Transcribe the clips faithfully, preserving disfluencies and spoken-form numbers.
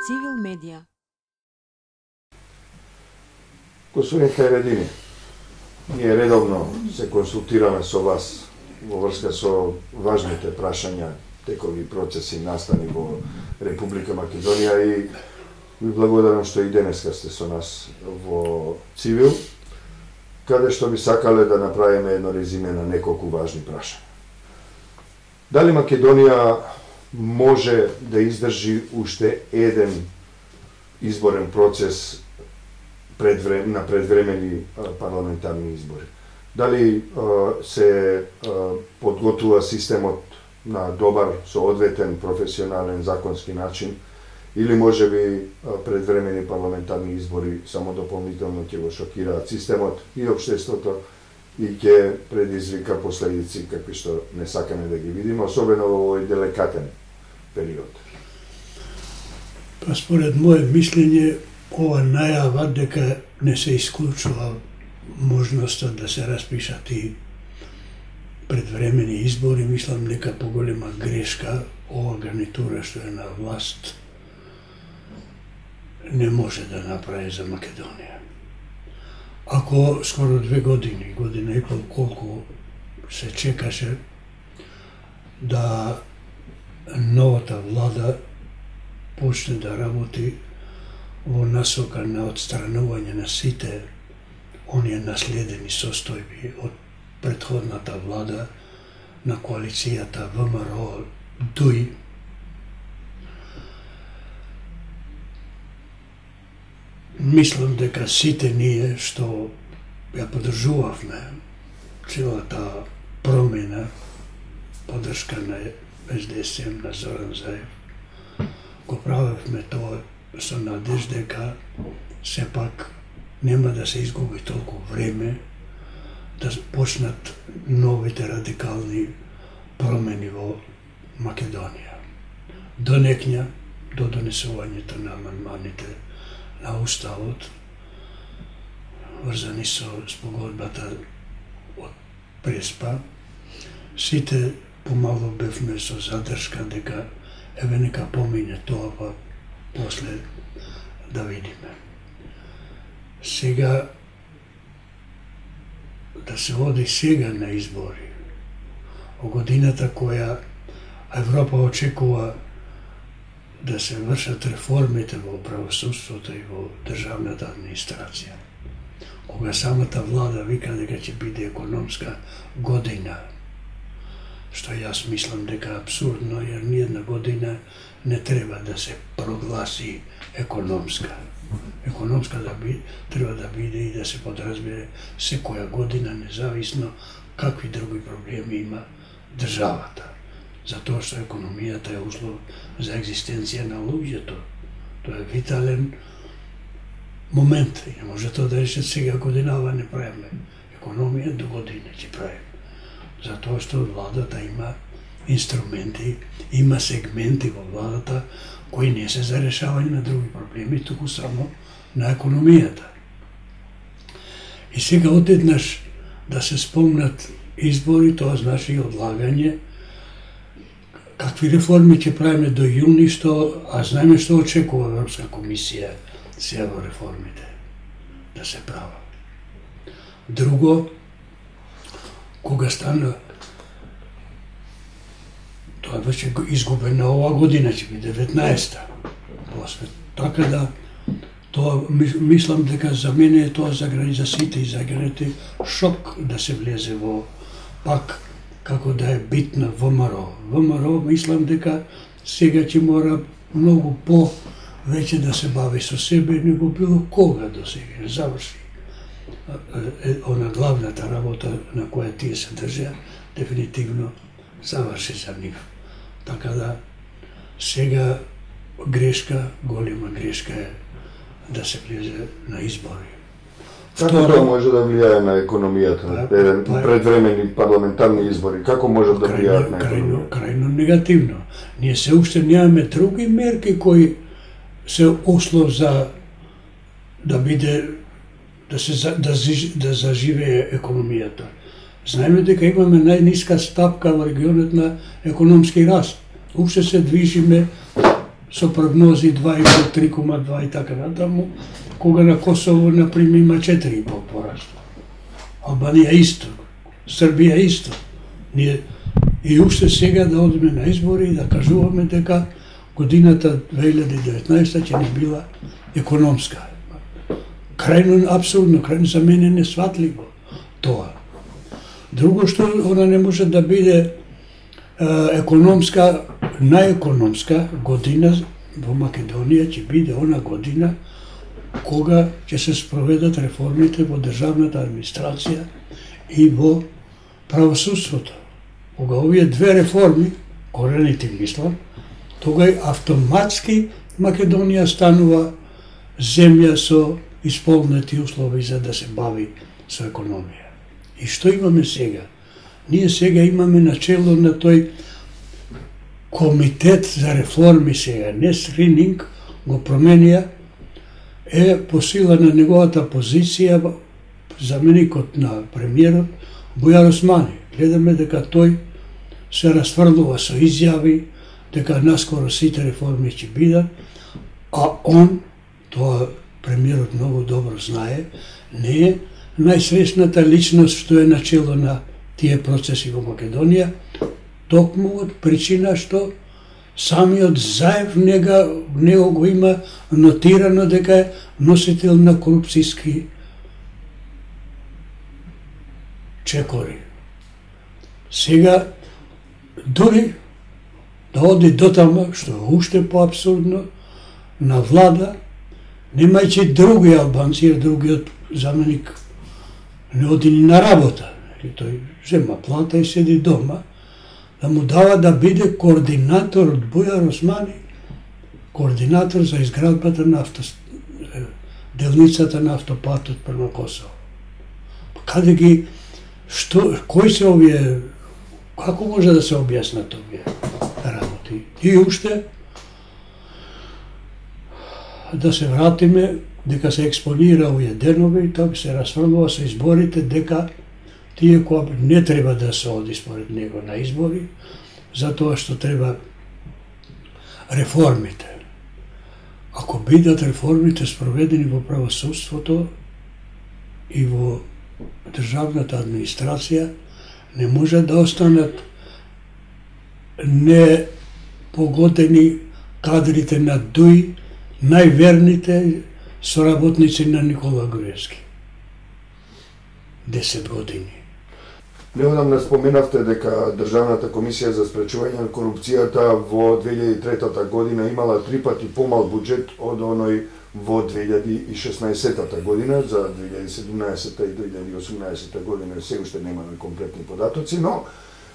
Цивил медија. Господин Хајредини, ние редовно се консултираме со вас во врска со важните прашања, текови процеси настани во Република Македонија и ви благодарам што и денеска сте со нас во Цивил, каде што би сакале да направиме едно резиме на неколку важни прашања. Дали Македонија може да издржи уште еден изборен процес предврем, на предвремени парламентарни избори? Дали а, се а, подготвува системот на добар, соодветен, професионален, законски начин, или може би предвремени парламентарни избори само дополнително ќе го шокираат системот и општеството и ќе предизвика последици какви што не сакаме да ги видиме, особено во овој деликатен период? Па според мое мислење, ова најава дека не се исклучува можноста да се распишат и предвремени избори, мислам дека поголема грешка ова гарнитура што е на власт не може да направи за Македонија. Ако скоро две години, година и пол колку се чекаше да новата влада почне да работи во насока на отстранување на сите оние наследени состојби од претходната влада на коалицијата ВМРО ДУИ, мислам дека сите ние што ја поддржувавме целата промена, поддршка на Ес Де Ес Ем, на Зоран Заев, го правевме тоа со надеж дека сепак нема да се изгуби толку време да почнат новите радикални промени во Македонија. До некња, до донесувањето на амандманите на Уставот, врзани со спогодбата од Преспа, сите помало бевме со задршка дека еве нека помине тоа, па после да видиме. Сега, да се оди сега на избори, во годината која Европа очекува да се вршат реформите во правосудството и во државната администрација, кога самата влада вика дека ќе биде економска година, што јас мислам дека е абсурдно, jer ниједна година не треба да се прогласи економска. Економска да би, треба да биде и да се подразбере секоја година, независно какви други проблеми има државата. Затоа што економијата е услов за екзистенција на луѓето. Тоа е витален момент. И не може тоа да рече сега годинава не правиме. Економија до година ќе правиме. Затоа што владата има инструменти, има сегменти во владата кои не се за решавање на други проблеми, туку само на економијата. И сега одеднаш да се спомнат избори, тоа значи одлагање. Какви реформи ќе правиме до јуни, што, а знаеме што очекува Европска комисија сега во реформите да се права. Друго, кога стана, тоа беше изгубена ова година, ќе биде деветнаесета. После. Така да, тоа, мислам дека за мене е тоа за границите и за граните шок да се влезе во пак како да е битна ВМРО. ВМРО мислам дека сега ќе мора многу по веќе да се бави со себе, него било кога до сега не заврши. Она главната работа на која тие се држа, дефинитивно заврши за нив. Така да, сега грешка, голема грешка е да се влезе на избори. Како тоа може да влијае на економијата, еден предвремени парламентарни избори? Како може да влијаат на економијата? Крајно негативно. Ние се уште немаме други мерки кои се услов за да биде да се да, да заживее економијата. Знаеме дека имаме најниска стапка во регионот на економски раст. Уште се движиме со прогнози два и пол, три кома два и така натаму, кога на Косово, например, има четири и пол пораст. Албанија исто, Србија исто. Ние и уште сега да одиме на избори и да кажуваме дека годината две илјади и деветнаесета ќе не била економска. Крајно апсурдно, крајно за мене несватливо тоа. Друго што она не може да биде е, економска, најекономска година во Македонија ќе биде она година кога ќе се спроведат реформите во државната администрација и во правосудството. Кога овие две реформи, корените мислам, тогај автоматски Македонија станува земја со исполнети услови за да се бави со економија. И што имаме сега? Ние сега имаме начело на тој комитет за реформи сега, не скрининг, го променија, е по сила на неговата позиција заменикот на премиерот Бујар Османи. Гледаме дека тој се расфрлува со изјави, дека наскоро сите реформи ќе бидат, а он, тоа премиерот многу добро знае, не е најсресната личност што е начело на тие процеси во Македонија, токму од причина што самиот Заев нега, него го има нотирано дека е носител на корупцијски чекори. Сега, дури да оди дотама, што е уште поабсурдно, на влада, немајќи други албанци, jer другиот заменик не оди ни на работа. Тој зема плата и седи дома, да му дава да биде координатор од Бујар Османи, координатор за изградбата на авто... делницата на автопатот према Косово. Каде ги, што, кои се овие, како може да се објаснат овие работи? И уште, да се вратиме, дека се експонира овие денови, тоа се расфрлува со изборите, дека тие кои не треба да се оди според него на избори, затоа што треба реформите. Ако бидат реформите спроведени во правосудството и во државната администрација, не може да останат непогодени кадрите на ДУИ, најверните соработници на Никола Груевски. десет години. Неодамна споменавте дека Државната комисија за спречување на корупцијата во две илјади и трета година имала три пати помал буџет од оној во две илјади и шеснаесета година, за две илјади и седумнаесета и две илјади и осумнаесета година се уште немаме комплетни податоци, но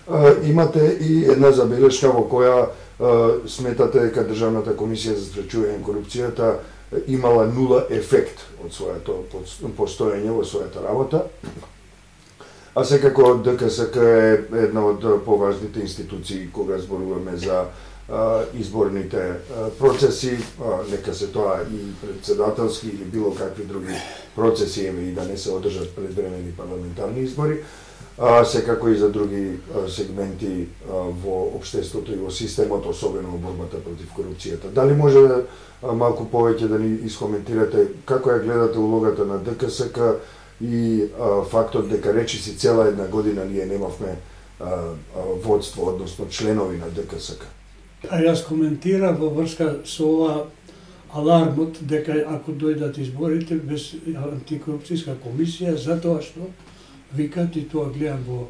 а, имате и една забелешка во која а, сметате дека Државната комисија за спречување на корупцијата имала нула ефект од своето постоење во својата работа. А секако ДКСК е една од поважните институции кога зборуваме за а, изборните а, процеси, а, нека се тоа и председателски или било какви други процеси, еме и да не се одржат предвремени парламентарни избори, а, секако и за други а, сегменти а, во општеството и во системот, особено во борбата против корупцијата. Дали може да а, малку повеќе да ни искоментирате како ја гледате улогата на ДКСК и а, фактот дека речиси цела една година ние немавме а, а, водство, односно членови на ДКСК? А јас коментирав во врска со ова алармот дека ако дојдат изборите без антикорупцијска комисија, затоа што викат, и тоа гледам во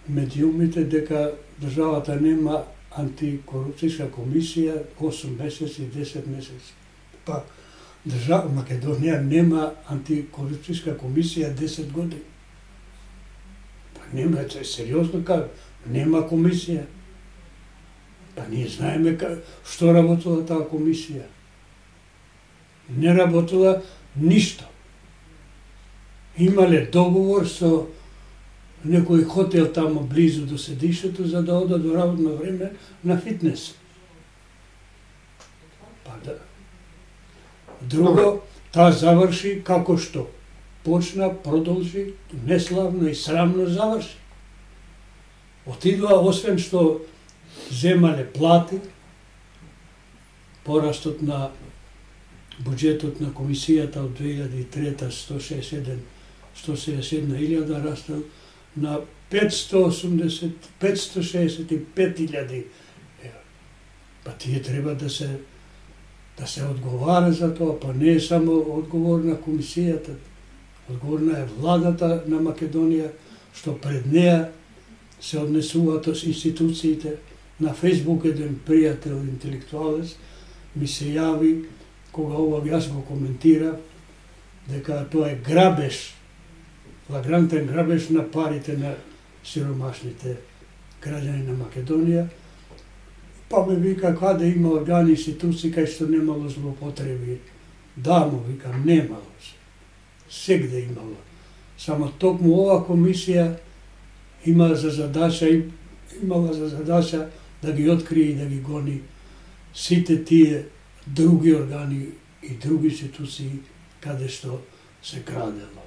медиумите, дека државата нема антикорупцијска комисија осум месеци и десет месеци. Па држава Македонија нема антикорупцијска комисија десет години. Па нема, тоа е сериозно кажа, нема комисија. Па ние знаеме што работила таа комисија. Не работила ништо. Имале договор со некој хотел тамо близу до седишето за да одат до работно време на фитнес. Па да. Друго, таа заврши како што почна, продолжи, неславно и срамно заврши. Отидоа, освен што земале плати, порастот на буџетот на комисијата од две илјади и трета сто шеесет и една илјада растал на петсто шеесет и пет илјади евра. Па тие треба да се да се одговара за тоа, па не е само одговорна комисијата, одговорна е владата на Македонија, што пред неа се однесуваат институциите. На Фејсбук еден пријател, интелектуалец, ми се јави, кога ова јас го коментирав, дека тоа е грабеж, флагрантен грабеж на парите на сиромашните граѓани на Македонија. Па ме вика, каде има органи, институции, кај што немало злоупотреби. Да, му викам, немало се. Сегде имало. Само токму ова комисија има за задача, имала за задача да ги открие и да ги гони сите тие други органи и други институции каде што се крадело.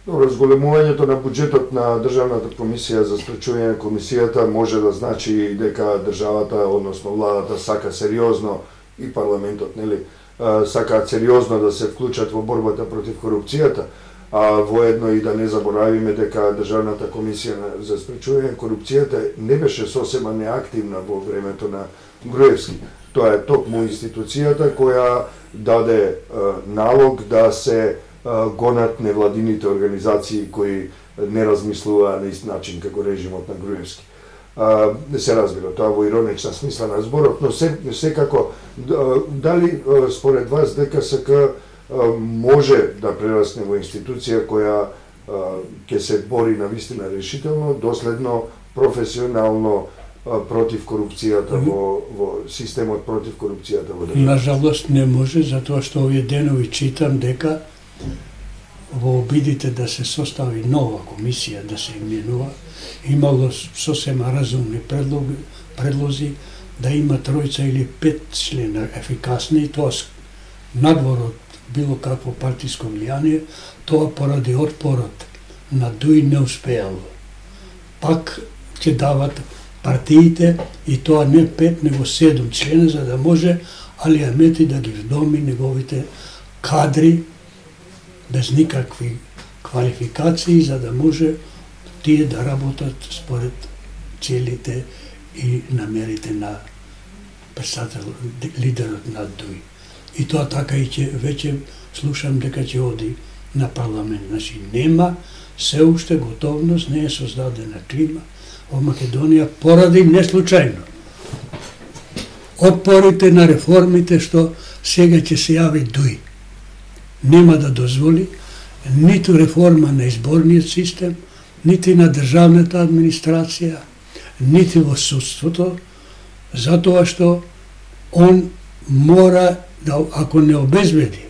Добро, зголемувањето на буџетот на Државната комисија за спречување на комисијата може да значи дека државата, односно владата, сака сериозно и парламентот, нели, сакаат сериозно да се вклучат во борбата против корупцијата, а воедно и да не заборавиме дека Државната комисија за спречување на корупцијата не беше сосема неактивна во времето на Груевски. Тоа е токму институцијата која даде е, налог да се гонат невладините организации кои не размислуваа на ист начин како режимот на Груевски. А, не се разбира тоа во иронична смисла на зборот, но се, секако, дали според вас ДКСК може да прерасне во институција која ќе се бори на вистина решително, доследно, професионално против корупцијата во, во системот против корупцијата во државата? На жалост не може, затоа што овие денови читам дека во обидите да се состави нова комисија, да се именува, имало сосема разумни предлози, предлози да има тројца или пет члена ефикасни, тоа надвор од било какво партиско влијание, тоа поради отпорот на Дуј не успеало. Пак ќе дават партиите, и тоа не пет, него седум члена, за да може Али Ахмети да ги вдоми неговите кадри без никакви квалификации, за да може тие да работат според целите и намерите на председател, лидерот на Дуј. И тоа така и ќе веќе слушам дека ќе оди на парламент. Значи нема се уште готовност, не е создадена клима во Македонија поради неслучајно отпорите на реформите што сега ќе се јави Дуј. Нема да дозволи ниту реформа на изборниот систем, нити на државната администрација, нити во судството, затоа што он мора да, ако не обезбеди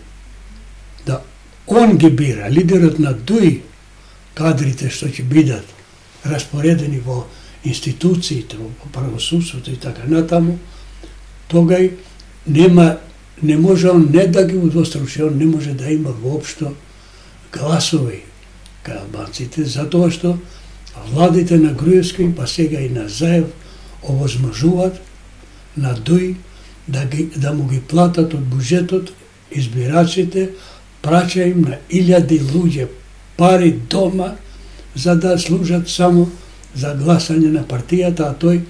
да он ги бира, лидерот на Дуј, кадрите што ќе бидат распоредени во институциите, во правосудството и така натаму, тогај нема, не може он не да ги удвостручи, он не може да има воопшто гласови кај албанците, затоа што владите на Груевски, па сега и на Заев, овозможуваат на Дуј да, ги, да му ги платат од буџетот избирачите, праќа им на илјади луѓе пари дома за да служат само за гласање на партијата, а тој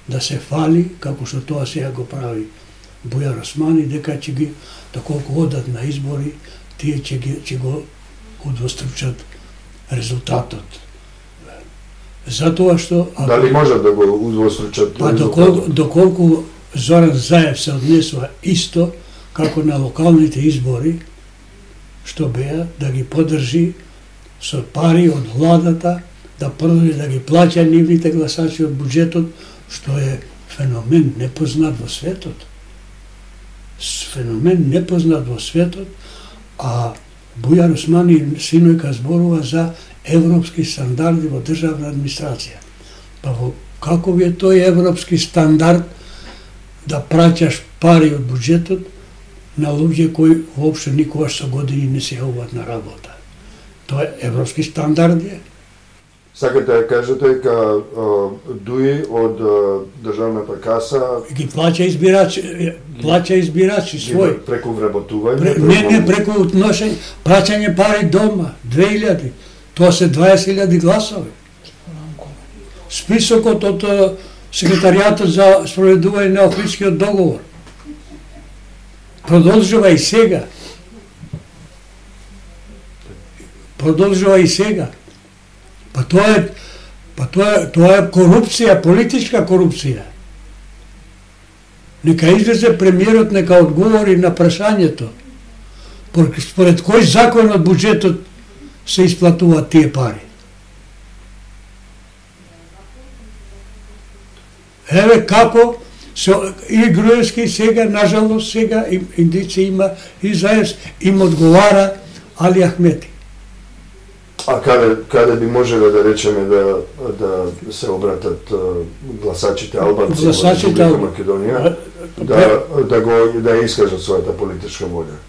да се фали, како што тоа сега го прави Бујар Османи, дека ќе ги, доколку одат на избори, тие ќе, ги, ќе го удвостручат резултатот. Затоа што... Ако, дали можат да го удвостручат па, резултатот? Доколку, доколку Зоран Заев се однесува исто како на локалните избори, што беа да ги поддржи со пари од владата, да продолжи да ги плаќа нивните гласачи од буџетот, што е феномен непознат во светот. Феномен непознат во светот, а Бујар Османи синојка зборува за европски стандарди во државна администрација. Па во каков е тој европски стандард да праќаш пари од буџетот на луѓе кои воопшто никогаш со години не се јавуваат на работа? Тоа е европски стандард е. Сакате да кажете дека дуи од државната каса ги плаќа избирачи, плаќа избирачи свој преку вработување, Пре, не не преку отношење, плаќање пари дома, две илјади. Тоа се дваесет илјади гласови. Списокот од секретаријатот за спроведување на Охридскиот договор продолжува и сега. Продолжува и сега. Па тоа е, па тоа е, тоа е корупција, политичка корупција. Нека излезе премиерот, нека одговори на прашањето. Според кој закон од буџетот се исплатуваат тие пари? Еве како се, и Груевски сега, нажалост сега, индици има, и Заевс им одговара Али Ахмети. А каде, каде би можеле да речеме да, да се обратат гласачите албанци во Република Македонија, да, да, го, да искажат својата политичка волја?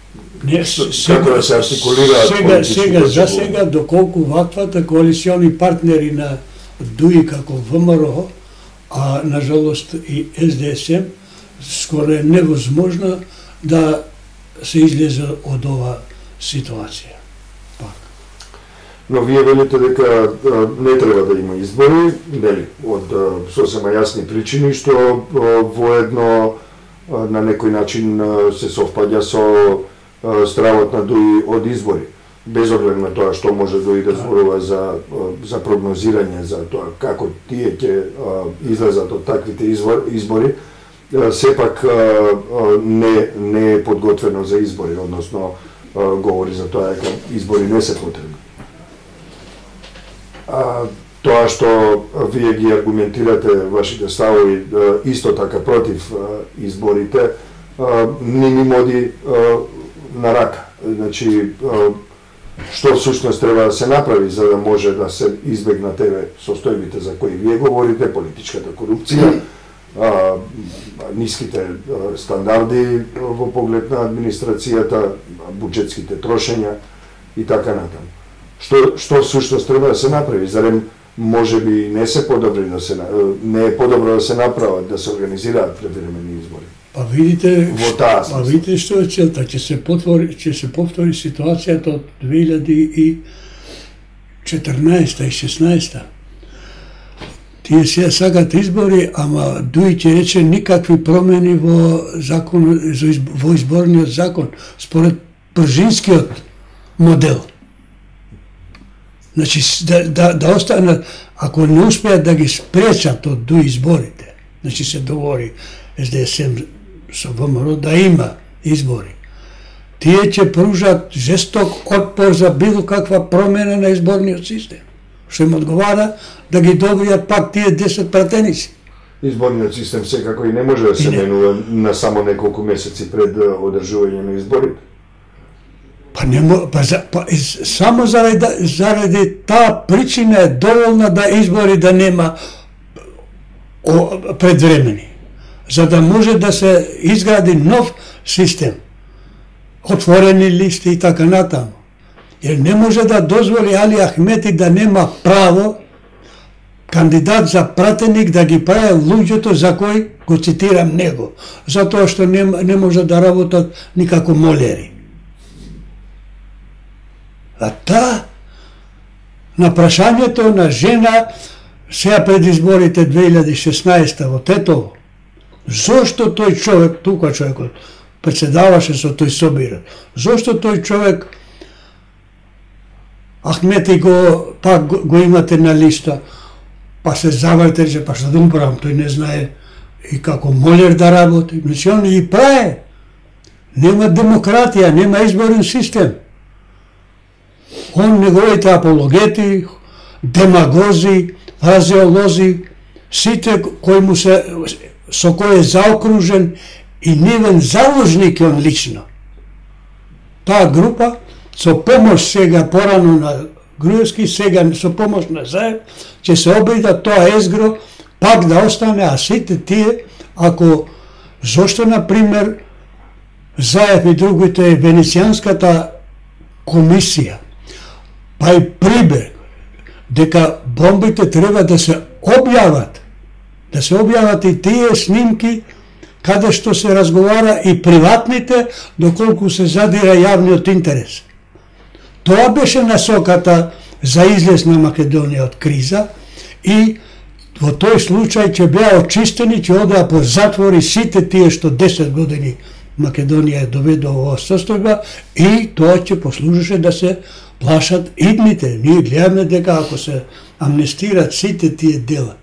Не, сега, како да се артикулираат сега, сега, за сега, доколку ваквата коалициони партнери на ДУИ како ВМРО, а нажалост и С Д С М, скоро е невозможно да се излезе од ова ситуација. Но вие велите дека не треба да има избори, нели, од сосема јасни причини, што воедно на некој начин се совпаѓа со стравот на ДУИ од избори. Без оглед на тоа што може ДУИ да зборува за, за прогнозирање, за тоа како тие ќе излезат од таквите избори, сепак не, не е подготвено за избори, односно говори за тоа дека избори не се потребни. А, тоа што вие ги аргументирате вашите ставови исто така против изборите, не ми моди на рака. Значи, што всушност треба да се направи за да може да се избегнат еве состојбите за кои вие говорите, политичката корупција, а, ниските стандарди во поглед на администрацијата, буџетските трошења и така натаму. Што што всушност треба да се направи? Зарем можеби не се подобри да се не е подобро да се направат, да се организираат превремени избори? Па видите, во таа па видите што е целта, ќе се повтори, ќе се повтори ситуацијата од две илјади и четрнаесета и шеснаесета. Тие се сакат избори, ама ДУИ ќе рече никакви промени во закон, во изборниот закон според пржинскиот модел. Значи, да, да, да останат, ако не успеат да ги спречат од ДУИ изборите, значи се договори С Д С М со ВМРО да има избори, тие ќе пружат жесток отпор за било каква промена на изборниот систем, што им одговара да ги добијат пак тие десет пратеници. Изборниот систем секако и не може да се менува на само неколку месеци пред одржување на изборите. Па не мо, па, за, па само заради, заради таа причина е доволна да избори да нема о, предвремени, за да може да се изгради нов систем, отворени листи и така натаму. Jer ne može da dozvoli Ali Ahmeti da nema pravo kandidат за пратеник да ги прави луѓето за кои го цитирам него, затоа што не, не може да работат никако молери. А та на прашањето на жена сега пред изборите две илјади и шеснаесета во Тетово, зошто тој човек, тука човекот председаваше со тој собират, зошто тој човек Ахмети го пак го, го имате на листа, па се заврте, че па што да умправам, тој не знае и како молер да работи. Значи он и прави. Нема демократија, нема изборен систем. Он неговите апологети, демагози, фразеолози, сите кои му се, со кој е заокружен и нивен заложник е он лично. Таа група, со помош сега порано на Груевски, сега со помош на Заев, ќе се обида тоа езгро пак да остане, а сите тие, ако, зошто, например, Заев и другите, Венецијанската комисија, па и Прибег, дека бомбите треба да се објават, да се објават и тие снимки каде што се разговара и приватните, доколку се задира јавниот интерес. Тоа беше насоката за излез на Македонија од криза и во тој случај ќе беа очистени, ќе одеа по затвори сите тие што десет години Македонија е доведува во состојба и тоа ќе послужеше да се плашат идните. Ние гледаме дека ако се амнестират сите тие дела,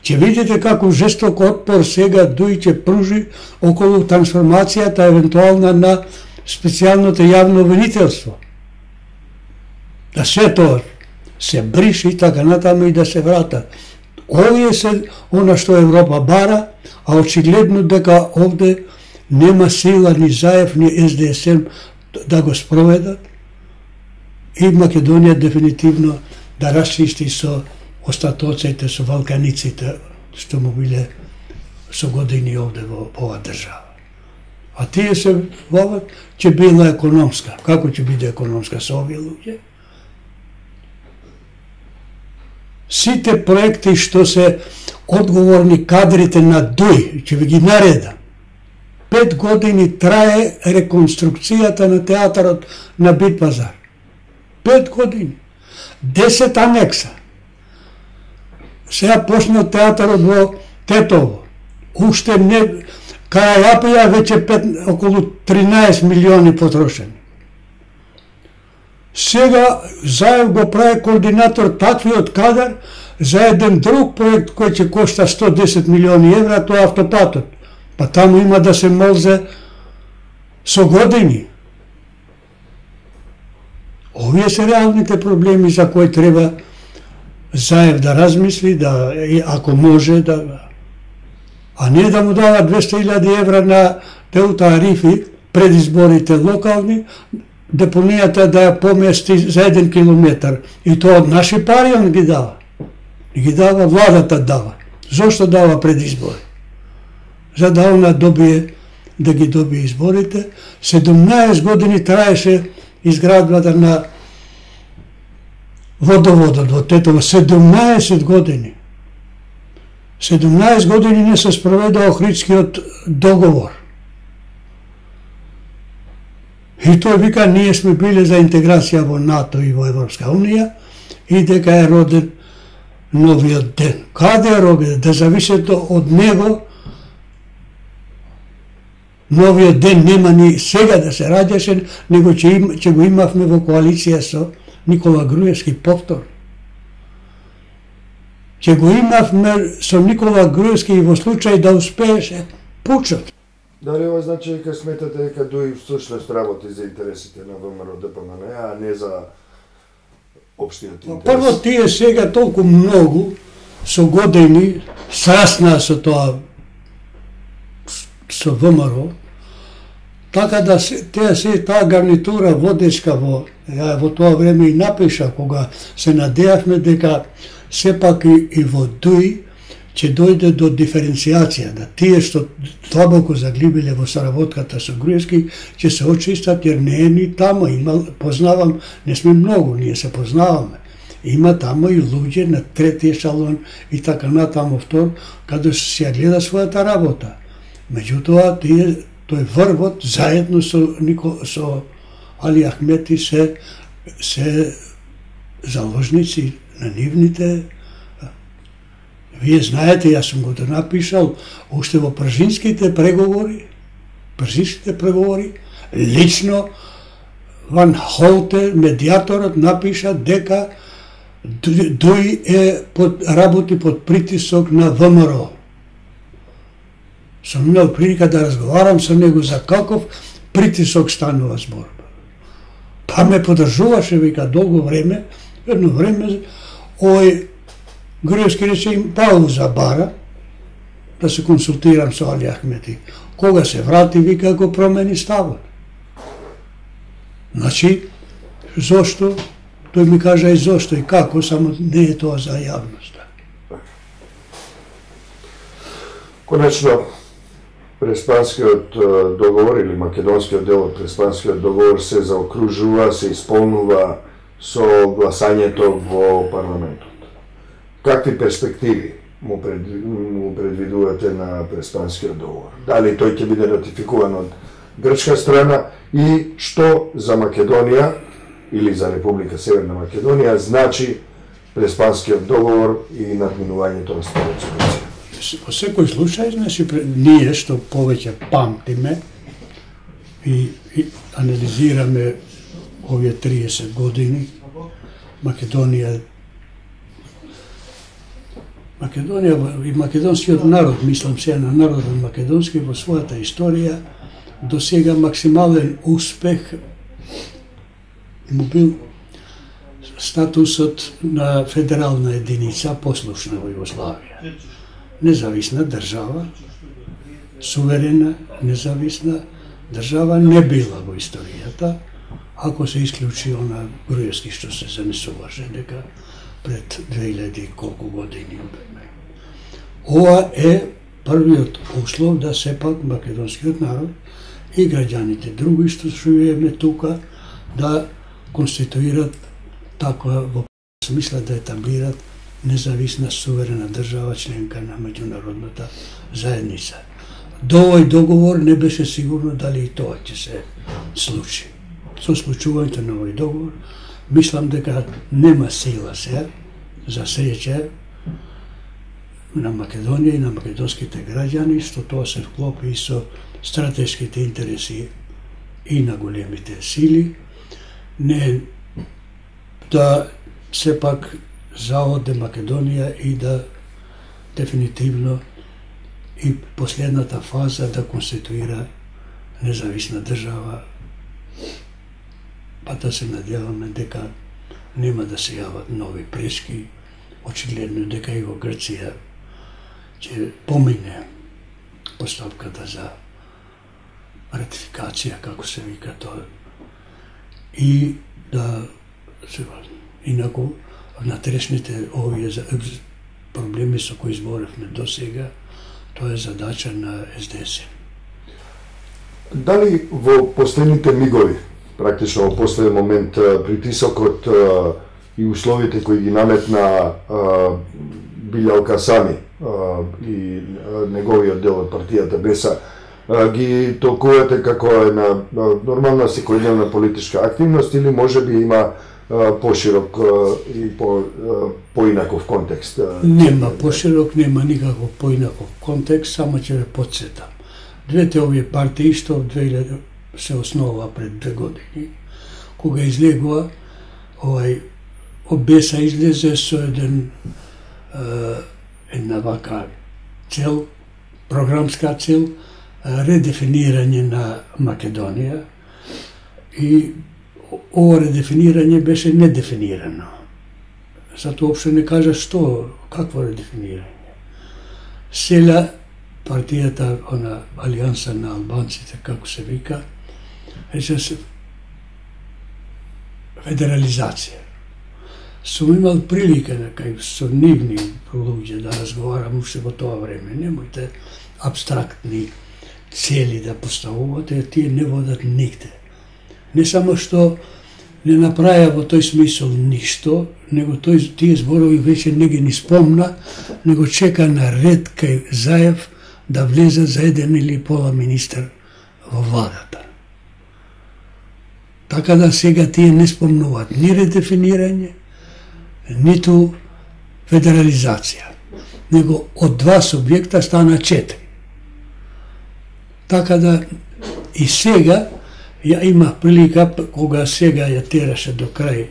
ќе видите како жесток отпор сега Дуј ќе пружи околу трансформацијата евентуална на специјалното јавно обвинителство. Да се тоа се бриши и така натаму и да се врата. Овие се она што Европа бара, а очигледно дека овде нема сила ни Заев, ни Ес Де Ес Ем да го спроведат и Македонија дефинитивно да расчисти со остатоците, со валканиците што му биле со години овде во оваа држава. А тие се воват, ќе била економска. Како ќе биде економска со овие луѓе? Сите проекти што се одговорни кадрите на Дуј, ќе ви ги наредам. Пет години трае реконструкцијата на театарот на Бит Пазар. Пет години. Десет анекса. Сега почна театарот во Тетово. Уште не... Карајапија веќе пет, околу тринаесет милиони потрошени. Сега Заев го прави координатор таквиот кадар за еден друг проект кој ќе кошта сто десет милиони евра, тоа автопатот. Па таму има да се молзе со години. Овие се реалните проблеми за кои треба Заев да размисли, да, ако може, да, а не да му дава двесте илјади евра на Теута Арифи пред изборите локални, депонијата да ја помести за еден километар. И тоа од наши пари он ги дава. И ги дава, владата дава. Зошто дава пред избори? За да она добие, да ги добие изборите. седумнаесет години траеше изградбата на водоводот во Тетово. седумнаесет години. седумнаесет години не се спроведе Охридскиот договор. И тој вика, ние сме биле за интеграција во НАТО и во Европска Унија и дека е роден новиот ден. Каде е роден? Да зависето од него новиот ден нема ни сега да се раѓаше, него ќе, им, ќе го имавме во коалиција со Никола Груевски повтор. Ќе го имавме со Никола Груевски и во случај да успееше пучот. Дали ова значи дека сметате дека Дуј всушност работи за интересите на ВМРО Д П М Н, а не за општиот интерес? Прво, тие сега толку многу со години сраснаа со тоа, со ВМРО, така да се, тие се таа гарнитура водечка во, ја во тоа време и напиша, кога се надеавме дека сепак и, и во Дуј ќе дојде до диференцијација, да тие што длабоко заглибиле во соработката со Груевски ќе се очистат, jer не е ни тамо, има, познавам, не сме многу, ние се познаваме. Има тамо и луѓе на трети ешалон и така натаму втор, каде се ја гледа својата работа. Меѓутоа, тие, тој врвот, заедно со, Нико, со Али Ахмети се, се заложници на нивните. Вие знаете, јас сум го напишал, уште во пржинските преговори, пржинските преговори, лично Ван Холте, медиаторот, напиша дека Дуј е под, работи под притисок на ВМРО. Сум имал прилика да разговарам со него за каков притисок станува збор. Па ме подржуваше, вика, долго време, едно време, ој Груевски рече им пауза бара, да се консултирам со Али Ахмети. Кога се врати, вика, го промени ставот. Значи, зошто? Тој ми кажа и зошто и како, само не е тоа за јавноста. Конечно, Преспанскиот договор или македонскиот дел од Преспанскиот договор се заокружува, се исполнува со гласањето во парламентот. какви перспективи му, пред, му предвидувате на Преспанскиот договор? Дали тој ќе биде ратификуван од грчка страна и што за Македонија или за Република Северна Македонија значи Преспанскиот договор и надминувањето на Старата Турција? Во секој случај, значи, ние што повеќе памтиме и, и анализираме овие триесет години, Македонија Македонија и македонскиот народ, мислам се на народот македонски во својата историја, до сега максимален успех му бил статусот на федерална единица, послушна во Југославија. Независна држава, суверена, независна држава не била во историјата, ако се исклучи она Груевски што се занесуваше дека пред две илјади колку години. Ова е првиот услов да сепак македонскиот народ и граѓаните други што живееме тука да конституират таква во смисла да етаблират независна суверена држава членка на меѓународната заедница. До овој договор не беше сигурно дали и тоа ќе се случи. Со случувањето на овој договор, мислам дека нема сила се, за среќа, на Македонија и на македонските граѓани, што тоа се вклопи и со стратешките интереси и на големите сили, не да сепак заоде Македонија и да дефинитивно и последната фаза да конституира независна држава, па да се надеваме дека нема да се јават нови пречки, очигледно дека и во Грција ќе помине постапката за ратификација, како се вика тоа, и да се инаку внатрешните овие проблеми со кои зборевме до сега, тоа е задача на Ес Де Ес. Дали во последните мигови, практично во последен момент, притисокот и условите кои ги наметна Билјалка Сами и неговиот дел од партијата Беса, ги толкувате како една нормална секојдневна политичка активност или можеби има поширок и по поинаков контекст? Нема поширок, нема никаков поинаков контекст, само ќе ве потсетам. Двете овие партии што во две илјади се основа пред две години, кога излегува овај Беса излезе со еден една вака цел, програмска цел, редефинирање на Македонија, и ова редефинирање беше недефинирано. Затоа уопште не кажа што, какво редефинирање. Села партијата, она Алијанса на албанците, како се вика, рече се федерализација. Сум имал прилика некај со нивни луѓе да разговарам уште во тоа време. Немојте абстрактни цели да поставувате, тие не водат нигде. Не само што не направија во тој смисол ништо, него тој, тие зборови веќе не ги ни спомна, него чека на ред кај Заев да влезат за еден или пола министер во владата. Така да сега тие не спомнуваат ни редефинирање, ниту федерализација, него од два субјекта стана четири. Така да и сега ја имах прилика, кога сега ја тераше до крај,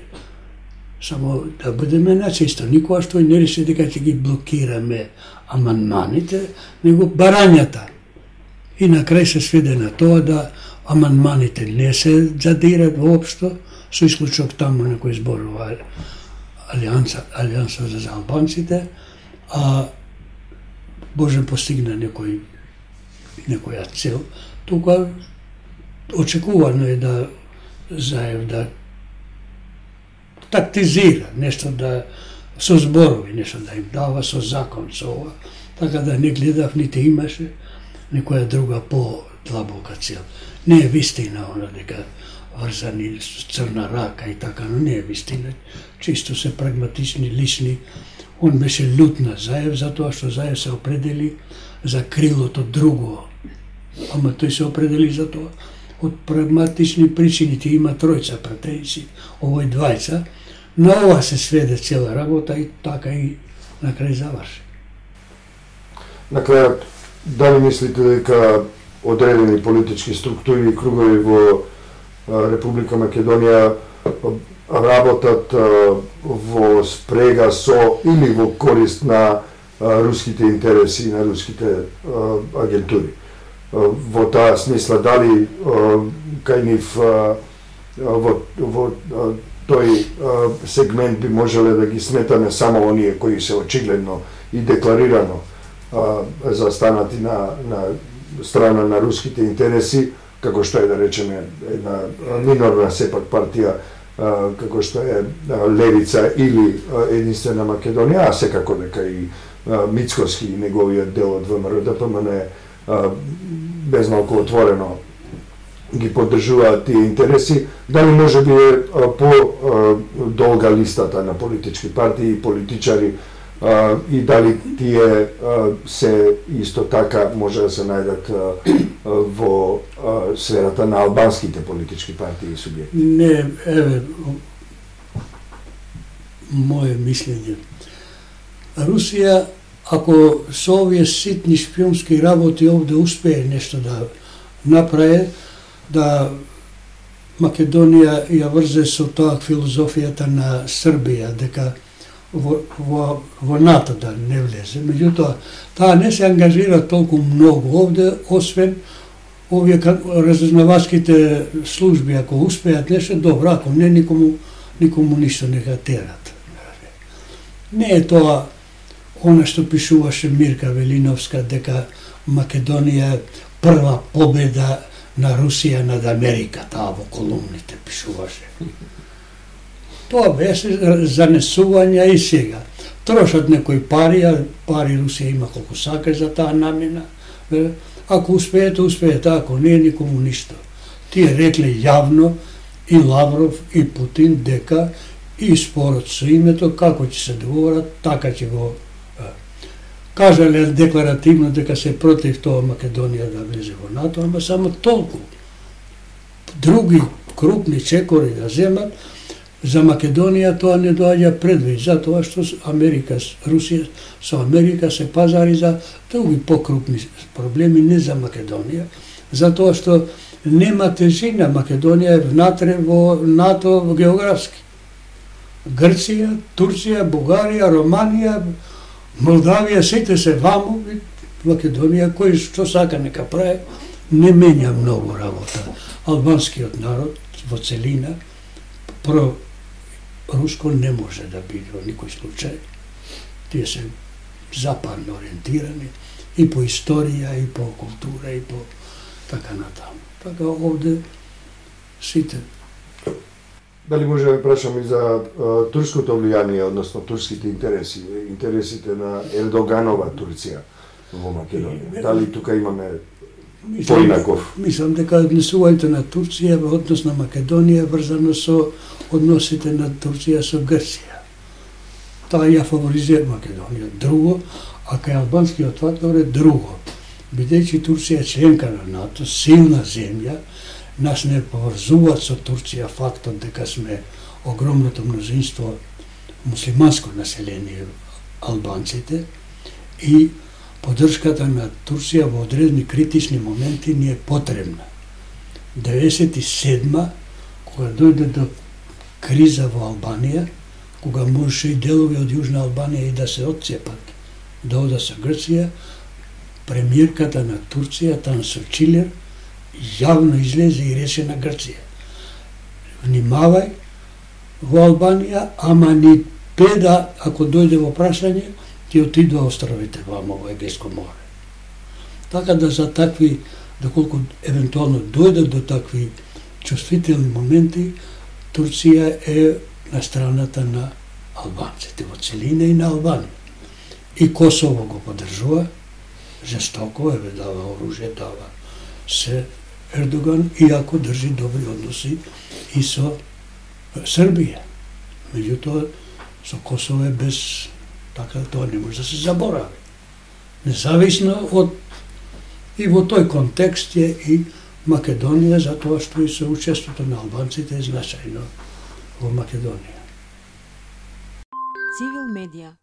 само да бидеме начисто, никогаш тој не реши дека ќе ги блокираме амандманите, него барањата. И на крај се сведе на тоа да амандманите не се задират воопшто, со исклучок таму на кој зборува Алијанса, Алијанса за албанците, а Боже постигна некој некоја цел. Тука очекувано е да Заев да тактизира, нешто да со зборови, нешто да им дава со закон, со ова, така да не гледав, нити имаше некоја друга по-длабока цел. Не е вистина она дека врзани с црна рака и така, но не е вистина. Чисто се прагматични, лични Он беше лют на Заев, затоа што Заев се определи за крилото друго. Ама тој се определи за тоа. Од прагматични причини, ти има тројца пратеници, овој двајца. На ова се сведе цела работа и така и на крај заврши. На крајот, дали мислите дека одредени политички структури и кругови во Република Македонија работат во спрега со или во корист на руските интереси и на руските агентури? Во таа смисла, дали кај нив во, во тој сегмент би можеле да ги сметаме само оние кои се очигледно и декларирано застанати на, на страна на руските интереси, како што е, да речеме, една минорна сепак партија, како што е Левица или Единствена Македонија, а секако дека и Мицкоски и неговиот дел од ВМРО Д П М Н безмалку отворено ги поддржуваат тие интереси, дали може би е по-долга листата на политички партии и политичари и дали тие се исто така може да се најдат во сферата на албанските политички партии и субјекти? Не, еве, моје мислење. Русија, ако со овие ситни шпионски работи овде успее нешто да направи, да Македонија ја врзе со тоа филозофијата на Србија, дека во, во, во НАТО да не влезе. Меѓутоа, таа не се ангажира толку многу овде, освен овие разузнавачките служби, ако успеат нешто, добро, ако не, никому, никому ништо не га терат. Не е тоа она што пишуваше Мирка Велиновска, дека Македонија е прва победа на Русија над Америка, таа во колумните пишуваше. Тоа беше занесување и сега. Трошат некои пари, а пари Русија има колку сака за таа намена. Ако успеете, успеете, ако не, никому ништо. Тие рекле јавно и Лавров и Путин дека и спорот со името, како ќе се договорат, така ќе го кажале декларативно дека се против тоа Македонија да влезе во НАТО, ама само толку. Други крупни чекори да земат, за Македонија тоа не доаѓа предвид, затоа што Америка, Русија со Америка се пазари за други покрупни проблеми, не за Македонија, затоа што нема тежина. Македонија е внатре во НАТО географски. Грција, Турција, Бугарија, Романија, Молдавија, сите се ваму, Македонија, кој што сака нека прави, не менја многу работа. Албанскиот народ во целина про руско не може да биде во никој случај. Тие се западно ориентирани и по историја, и по култура, и по така натаму. Така овде сите. Дали може да прашам и за а, турското влијание, односно турските интереси, интересите на Ердоганова Турција во Македонија? Дали тука имаме поинаков? Мислам дека однесувањето на Турција во однос на Македонија врзано со односите на Турција со Грција. Таа ја фаворизира Македонија. Друго, а кај албанскиот фактор е друго. Бидејќи Турција е членка на НАТО, силна земја, нас не поврзуваат со Турција фактот дека сме огромното мнозинство муслиманско население албанците и поддршката на Турција во одредени критични моменти ни е потребна. деветдесет и седма, кога дојде до криза во Албанија, кога можеше и делови од Јужна Албанија и да се отцепат, да одат со Грција, премиерката на Турција, Танsu Çiller, јавно излезе и рече на Грција: внимавај во Албанија, ама ни педа, ако дојде во прашање, ќе отидува островите вамо во Егејско море. Така да за такви, доколку евентуално дојдат до такви чувствителни моменти, Турција е на страната на албанците во целина и на Албанија. И Косово го поддржува жестоко, еве дава оружје, дава се Ердоган, иако држи добри односи и со Србија. Меѓутоа, со Косово е без Така тоа не може да се заборави. Независно од и во тој контекст е и Македонија, затоа што и соучеството на албанците е значајно во Македонија. Цивил медија